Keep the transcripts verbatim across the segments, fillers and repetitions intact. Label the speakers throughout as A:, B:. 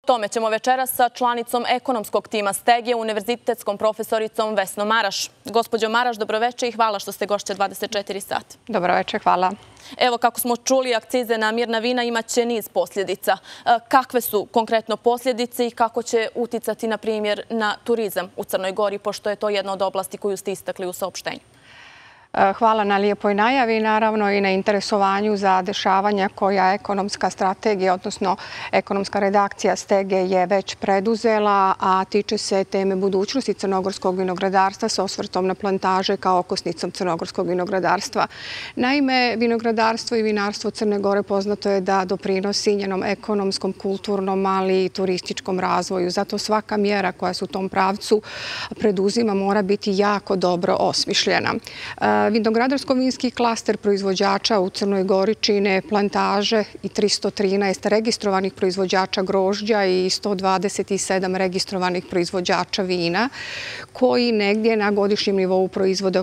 A: tome ćemo večeras sa članicom ekonomskog tima Stegije, univerzitetskom profesoricom Vesnom Maraš. Gospođo Maraš, dobroveče i hvala što ste gošća dvadeset četiri sata.
B: Dobroveče, hvala.
A: Evo, kako smo čuli, akcize na mirna vina imaće niz posljedica. Kakve su konkretno posljedice i kako će uticati, na primjer, na turizam u Crnoj Gori, pošto je to jedna od oblasti koju ste istakli u saopštenju?
B: Hvala na lijepoj najavi, naravno i na interesovanju za dešavanja koja ekonomska strategija, odnosno ekonomska redakcija Stege je već preduzela, a tiče se teme budućnosti crnogorskog vinogradarstva sa osvrtom na plantaže kao okosnicom crnogorskog vinogradarstva. Naime, vinogradarstvo i vinarstvo Crne Gore poznato je da doprinosi njenom ekonomskom, kulturnom, ali i turističkom razvoju. Zato svaka mjera koja se u tom pravcu preduzima mora biti jako dobro osmišljena. Vinogradarsko-vinski klaster proizvođača u Crnoj Gori čine plantaže i trista trinaest registrovanih proizvođača grožđa i sto dvadeset sedam registrovanih proizvođača vina, koji negdje na godišnjem nivou proizvode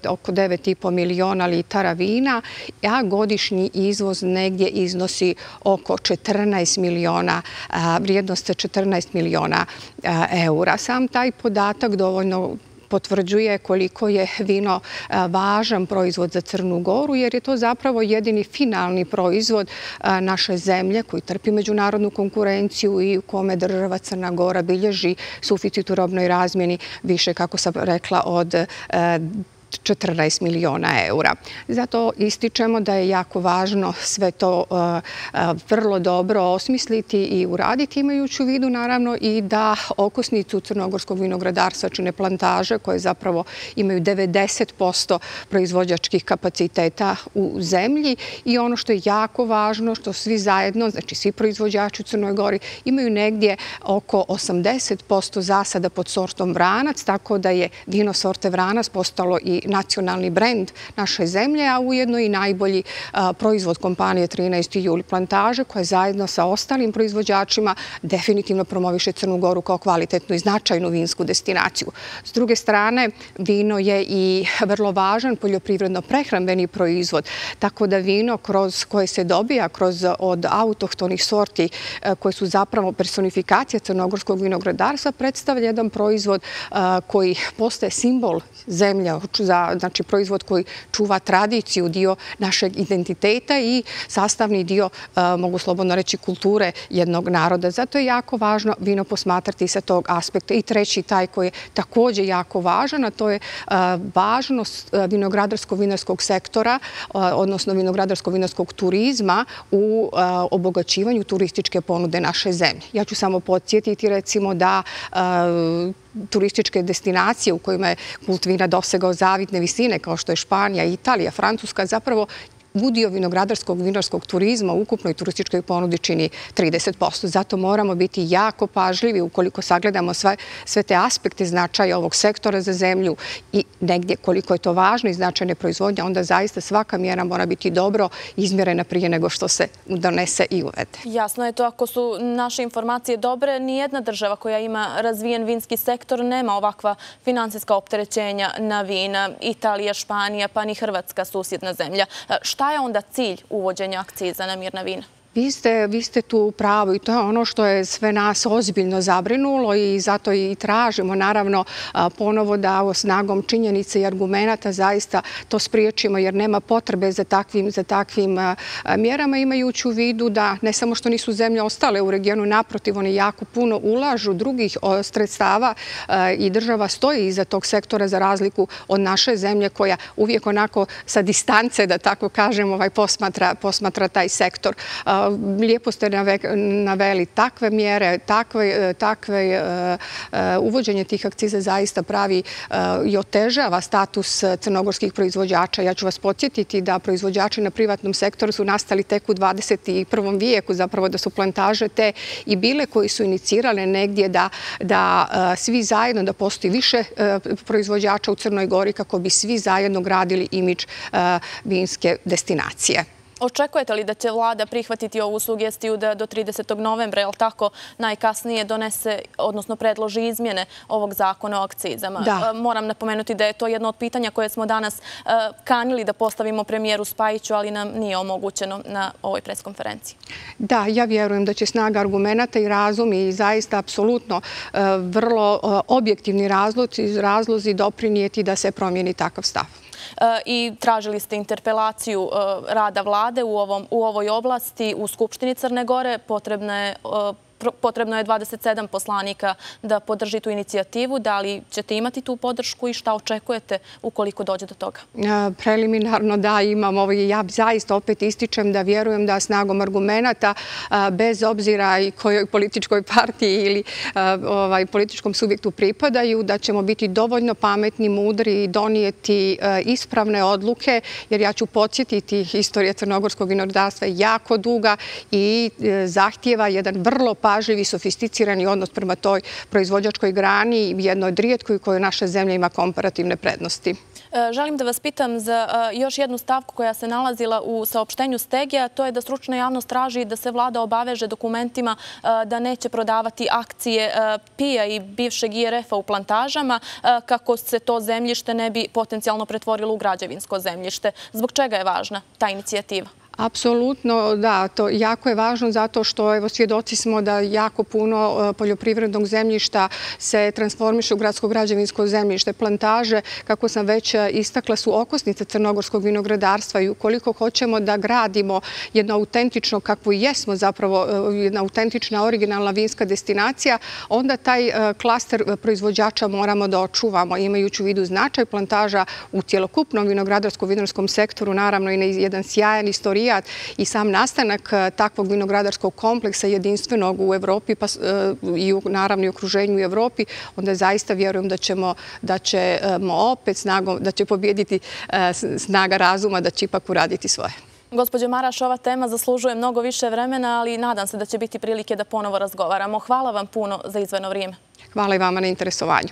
B: oko devet i po miliona litara vina, a godišnji izvoz negdje iznosi oko četrnaest miliona, vrijednost četrnaest miliona eura. Sam taj podatak dovoljno potvrđuje koliko je vino važan proizvod za Crnu Goru, jer je to zapravo jedini finalni proizvod naše zemlje koji trpi međunarodnu konkurenciju i u kome država Crna Gora bilježi suficit u robnoj razmjeni više, kako sam rekla, od četrnaest miliona eura. Zato ističemo da je jako važno sve to vrlo dobro osmisliti i uraditi, imajući u vidu naravno i da okosnicu crnogorskog vinogradarstva čine plantaže koje zapravo imaju devedeset posto proizvođačkih kapaciteta u zemlji i ono što je jako važno, što svi zajedno, znači svi proizvođači u Crnoj Gori, imaju negdje oko osamdeset posto zasada pod sortom Vranac, tako da je vino sorte Vranac postalo i nacionalni brend naše zemlje, a ujedno i najbolji proizvod kompanije trinaesti juli plantaže, koja zajedno sa ostalim proizvođačima definitivno promoviše Crnu Goru kao kvalitetnu i značajnu vinsku destinaciju. S druge strane, vino je i vrlo važan poljoprivredno-prehrambeni proizvod, tako da vino kroz koje se dobija kroz od autohtonih sorti koje su zapravo personifikacija crnogorskog vinogradarstva predstavlja jedan proizvod koji postaje simbol zemlje, znači proizvod koji čuva tradiciju, dio našeg identiteta i sastavni dio, mogu slobodno reći, kulture jednog naroda. Zato je jako važno vino posmatrati sa tog aspekta. I treći, taj koji je također jako važan, a to je važnost vinogradarsko-vinarskog sektora, odnosno vinogradarsko-vinarskog turizma u obogaćivanju turističke ponude naše zemlje. Ja ću samo podsjetiti recimo da turističke destinacije u kojima je kult vina dosegao zavidne visine, kao što je Španija, Italija, Francuska, zapravo udio vinogradarskog vinarskog turizma u ukupnoj turističkoj ponudi čini trideset posto. Zato moramo biti jako pažljivi ukoliko sagledamo sve, sve te aspekte značaja ovog sektora za zemlju i negdje koliko je to važno i značajne proizvodnje, onda zaista svaka mjera mora biti dobro izmjerena prije nego što se donese i uvede.
A: Jasno je to, ako su naše informacije dobre, nijedna država koja ima razvijen vinski sektor nema ovakva finansijska opterećenja na vina. Italija, Španija, pa ni Hrvatska, susjedna zemlja. Šta je onda cilj uvođenja akciza na mirna vina?
B: Vi ste, vi ste tu u pravu i to je ono što je sve nas ozbiljno zabrinulo i zato i tražimo naravno ponovo da snagom činjenice i argumenata zaista to spriječimo, jer nema potrebe za takvim, za takvim mjerama, imajući u vidu da ne samo što nisu zemlje ostale u regionu, naprotiv, oni jako puno ulažu drugih sredstava i država stoji iza tog sektora za razliku od naše zemlje koja uvijek onako sa distance, da tako kažem, ovaj, posmatra, posmatra taj sektor. Lijepo ste naveli takve mjere, takve, takve uvođenje tih akciza zaista pravi i otežava status crnogorskih proizvođača. Ja ću vas podsjetiti da proizvođači na privatnom sektoru su nastali tek u dvadeset prvom vijeku, zapravo da su plantaže te i bile koji su inicirale negdje da, da svi zajedno, da postoji više proizvođača u Crnoj Gori kako bi svi zajedno gradili imidž vinske destinacije.
A: Očekujete li da će vlada prihvatiti ovu sugestiju da do tridesetog novembra, jel tako, najkasnije donese, odnosno predloži izmjene ovog zakona o akcizama?
B: Da.
A: Moram napomenuti da je to jedno od pitanja koje smo danas kanili da postavimo premijeru Spajiću, ali nam nije omogućeno na ovoj preskonferenciji.
B: Da, ja vjerujem da će snaga argumenata i razum i zaista apsolutno vrlo objektivni razlozi doprinijeti da se promijeni takav stav.
A: I tražili ste interpelaciju rada vlade u ovoj oblasti u Skupštini Crne Gore. Potrebno je Potrebno je dvadeset sedam poslanika da podrži tu inicijativu. Da li ćete imati tu podršku i šta očekujete ukoliko dođe do toga?
B: Preliminarno da, imam ovo i ja zaista opet ističem da vjerujem da snagom argumenata, bez obzira i kojoj političkoj partiji ili političkom subjektu pripadaju, da ćemo biti dovoljno pametni, mudri i donijeti ispravne odluke, jer ja ću podsjetiti, historija crnogorskog vinogradarstva je jako duga i zahtijeva jedan vrlo pažljiv i sofisticirani odnos prema toj proizvođačkoj grani, jednoj od rijetkoj kojoj naša zemlja ima komparativne prednosti.
A: Želim da vas pitam za još jednu stavku koja se nalazila u saopštenju Stegija, to je da stručna javnost traži da se vlada obaveže dokumentima da neće prodavati akcije P I A i bivšeg I R F-a u plantažama kako se to zemljište ne bi potencijalno pretvorilo u građevinsko zemljište. Zbog čega je važna ta inicijativa?
B: Apsolutno, da. To jako je važno zato što evo svjedoci smo da jako puno poljoprivrednog zemljišta se transformiše u gradsko građevinsko zemljište. Plantaže, kako sam već istakla, su okosnice crnogorskog vinogradarstva i ukoliko hoćemo da gradimo jedno autentično, kakvo i jesmo zapravo, jedna autentična originalna vinska destinacija, onda taj klaster proizvođača moramo da očuvamo, imajući u vidu značaj plantaža u cjelokupnom vinogradarsko-vinarskom sektoru, naravno i na jedan sjajan istorijat i sam nastanak takvog vinogradarskog kompleksa jedinstvenog u Evropi i naravno i okruženju u Evropi, onda zaista vjerujem da ćemo opet snagom, da će pobjediti snaga razuma, da će ipak uraditi svoje.
A: Gospođo Maraš, ova tema zaslužuje mnogo više vremena, ali nadam se da će biti prilike da ponovo razgovaramo. Hvala vam puno za izdvojeno vrijeme.
B: Hvala i vama na interesovanju.